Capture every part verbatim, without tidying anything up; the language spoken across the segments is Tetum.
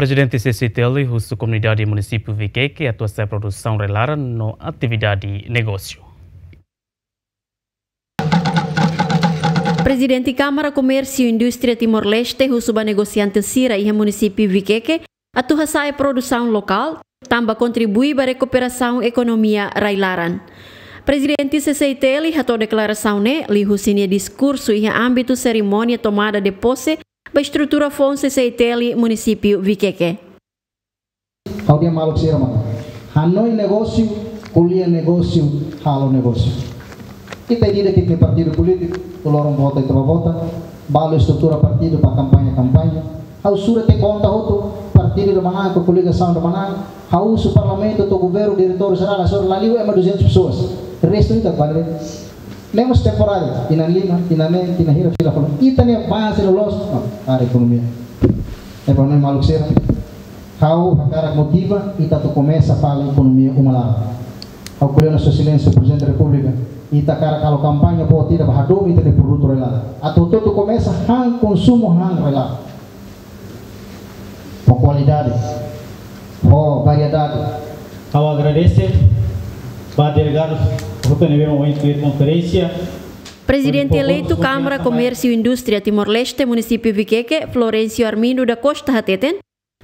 Prezidente C C I T L husu komunidade munisípiu Viqueque atu hasa'e produsaun rai-laran no atividade negósiu. Prezidente Kámara Komérsiu Indústria Timor-Leste husu ba negosiante sira iha munisípiu Viqueque atu hasa'e produsaun lokál, tanba kontribui ba rekuperasaun ekonomia rai-laran. Prezidente C C I T L hato'o deklarasaun ne'e liuhusi nia diskursu iha ámbitu serimónia tomada de posse ba estrutura foun C C I T L munisípiu Viqueque. Ha'u dehan maluk sira maka hanoin negósiu, ko'alia negósiu, halo negósiu. Ita ida-idak ita-nia partidu polítiku, loron vota ita bá vota, balu estrutura partidu ba kampaña-kampaña. Ha'u sura tiha konta hotu, partidu ida manán, koligasaun ida manán. Ha'u husu parlamentu to'o governu, diretór jerál, hasoru la liu ema duzentas pessoas. Restu ita bá de'it. Ne'e mós temporáriu, tinan lima, tinan neen, tinan hira, fila fali. Ita-nia avansu loloos, ah, para ekonomia. Ne'e ba ne'e maluk sira. Ha'u hakarak motiva ita atu komesa fali ekonomia uma laran. Ha'u ko'alia ona Sua Exelénsia Prezidente Repúblika, ita hakarak halo kampaña boot ida ba hadomi ita-nia produtu rai-laran. Atu hotu-hotu komesa han konsumu han rai-laran. Ho kualidade, ho variedade. Ha'u agradese ba delegadu hotu ne'ebé mai ohin tuir konferénsia. Prezidente eleitu Kámara Komérsiu Indústria Timor-Leste, munisípiu Viqueque, Florencio Armindo da Costa hateten,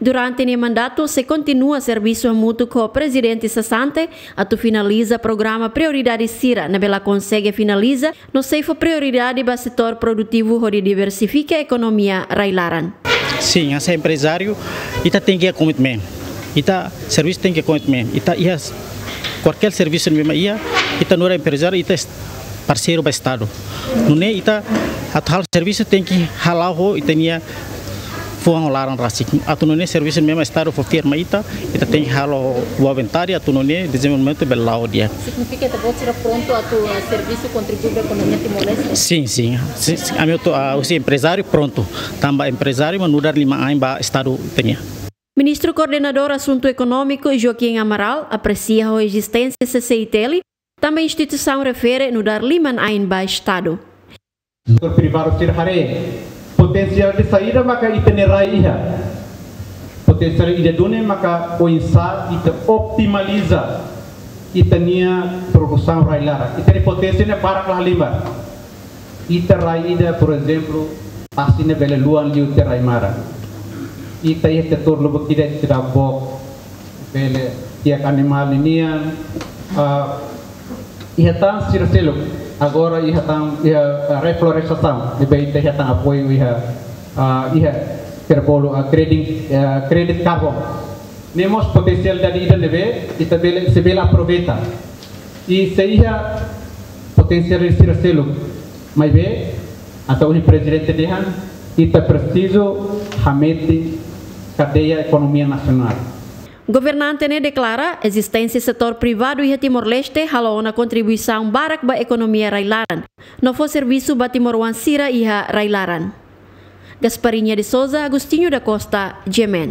durante nia mandatu sei kontinua servisu hamutuk ho prezidente sesante atu finaliza programa prioridade sira ne'ebé la konsege finaliza no sei fó prioridade ba setór produtivu hodi diversifika ekonomia rai-laran. Sin, hanesan emprezáriu, ita tenke iha komitmen. Ita servisu tenke iha komitmen. Ita iha kualkér servisu ne'ebé mak iha, ita nu'udar emprezáriu, ita es-, parseiru ba Estadu. Nune'e ita atu halo servisu tenke hala'o ho ita-nia fuan ho laran rasik. Atu nune'e servisu ne'ebé mak Estadu fó fiar mai ita, ita tenke halo ho boa vontade, atu nune'e dezenvolvimentu bele la'o di'ak. Signifika ita-boot sira prontu atu, eh, servisu kontribui ba ekonomia Timor-Leste? Sin, sin. Sin, sin. Ami hotu, ah, husi emprezáriu prontu. Tanba emprezáriu mak nu'udar liman-ain ba Estadu ita-nian. Ministru Koordenadór Asuntu Ekonómiku, Joaquim Amaral, apresia ho ezisténsia C C I T L, tanba instituisaun refere nu'udar liman-ain ba Estadu. Setór privadu sira haree potensiál de saída maka ita-nia rai iha. Potensiál ida duni maka oinsá ita otimaliza ita-nia produsaun rai-laran. Ita-nia poténsia ne'e barak la halimar. Ita rai ida, por ezemplu, tasi ne'e bele luan liu tiha rai-maran. Ita iha setór lubuk ida ita da'et book, bele tiak animál ninian, ah, iha tan sira seluk. Agora iha tan, iha, ah, reflorestasaun, ne'ebé ita iha tan apoiu iha, ah, iha sira bolu, ah, kredit, ah, kredit karbon. Ne'e mós potensiál ida ne'ebé ita bele, sei bele aproveita. I sei iha potensiál sira seluk. Maibé, hanesan ohin prezidente dehan, ita presiza hametin kadeia ekonomia nasionál. Governante ne'e deklara, ezisténsia setór privadu iha Timor-Leste halo ona kontribuisaun barak ba ekonomia rai-laran no fó servisu ba timoroan sira iha rai-laran. Gasparinha de Souza, Agostinho da Costa, G M N.